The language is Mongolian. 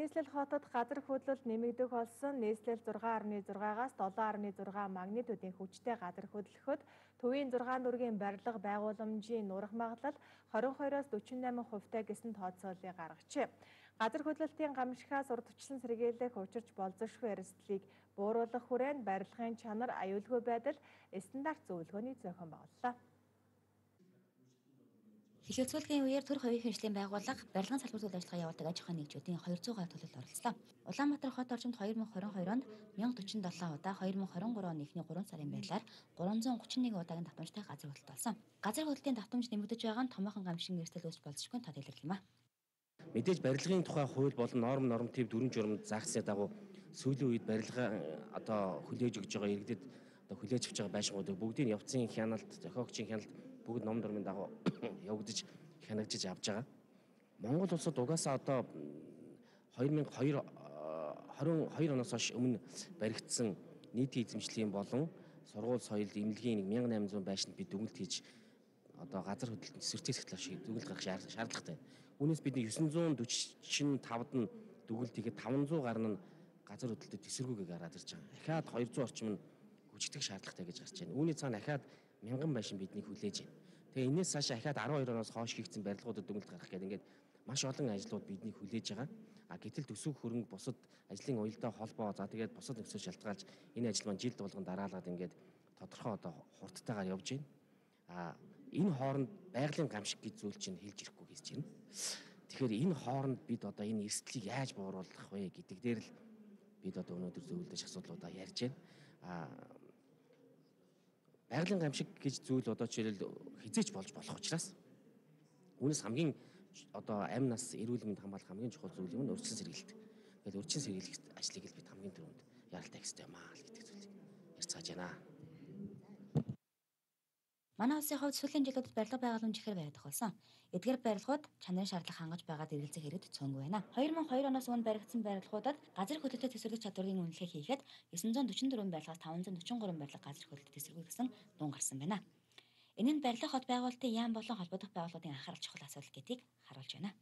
Нийслэл хотод газар хөдлөлт нэмэгдэх болсон нийслэл 6.6-аас 7.6 магнитудын хүчтэй газар хөдлөхөд төвийн 6 дүргийн барилга байгууламжийн нурах магадлал 22-оос 48% гэсэн тооцоолыг гаргажээ. Газар хөдлөлтийн гамшигаас урдчлан сэргийлэх учирч болзошгүй эрсдлийг бууруулах хүрээнд барилгын чанар, аюулгүй байдал, стандарт зөвлөгөөний зохион байгууллаа. Хилэлцүүлгийн үеэр төр хувийн хэмжээлийн байгууллага барилгын салбар үйл ажиллагаа явуулдаг аж ахуйн нэгжүүдийн 200 төлөлд оролцлоо. Улаанбаатар хот орчимд 2022 онд 1047 удаа, 2023 оны эхний 3 сарын байдлаар 331 удаагийн давтамжтай газар хөдлөлт болсон. Газар хөдлөлтийн давтамж нэмэгдэж байгаа нь томоохон гамшигын эрсдэл үүсч болзошгүй тод илэрлэх юм а. Мэдээж барилгын тухай хууль болон норматив дүрм журамд заагдсны дагуу сүүлийн үед барилгаа хүлээж өгж байгаа иргэдэд хүлээж авч байгаа байшингуудыг бүгдийг явцын хяналт, зохиогчийн хяналт бүгд ном дурмын дагуу явагдаж хянагжиж авч байгаа. Монгол улсад угаасаа 2022 оноос хойш өмнө баригдсан нийтийн эзэмшлийн болон сургууль соёл эмнэлгийн 1800 байшинд бид дүгнэлт хийж газар хөдлөлтөнд сэвэртээс эхлэх дүгнэлт гаргах шаардлагатай. Үүнээс бидний 945-д нь дүгнэлт хийхэд 500 гаруй нь газар хөдлөлтөд эсэргүүгээ гараад ирж байгаа. Дахиад 200 орчим нь гүйцэтгэх шаардлагатай гэж гарч байна. Үүний цаана дахиад 1000 байшин бидний хүлээж байна. Тэгээ энэс цаашаа дахиад 12 оноос хойш хийгдсэн барилгуудад дүгнэлт гаргах гэдэг ингээд маш олон ажлууд бидний хүлээж байгаа. Гэтэл төсөв хөрөнгө бусад ажлын уялдаа холбоо тэгээд бусад нөхцөл шалтгаалж энэ ажил маань жил болгон дараалаад ингээд тодорхой хурдтайгаар явж байна. Энэ хооронд байгалийн гамшиг гэж зүйл чинь хэлж ирэхгүй гэж байна. Тэгэхээр энэ хооронд бид энэ эрсдлийг яаж бууруулах вэ гэдэг дээр л бид өнөөдөр зөвлөдөж асуудлуудаа ярьж байна. Байгалийн гамшиг гэж зүйл жишээлбэл хизээч болж болох учраас үүнээс хамгийн амь нас эрүүл мэнд хамгаалах хамгийн чухал зүйл юм нь урьдчилан сэргийлэлт. Тэгэхээр урьдчилан сэргийлэх ажлыг л бид хамгийн түрүүнд яралтай хийх хэрэгтэй юм аа гэдэг зүйлийг ярьцгааж байна. Манай улсын хувьд сүүлийн жилүүдэд барилга байгууламж ихээр байдаг болсон. Эдгээр барилгууд чанарын шаардлага хангаж байгаад эргэлзэх хэрэгт цөөнгүй байна. 2002 оноос өмнө баригдсан барилгуудад газар хөдлөлтөд эсэргэх чадварын үнэлгээ хийхэд 944 барилгаас 543 барилга газар хөдлөлтөд эсэргүү гэсэн дуун гарсан байна. Энэ нь барилга хот байгуулалтын яам болон холбогдох байгууллагуудын анхаарал чухал асуудал гэдгийг харуулж байна.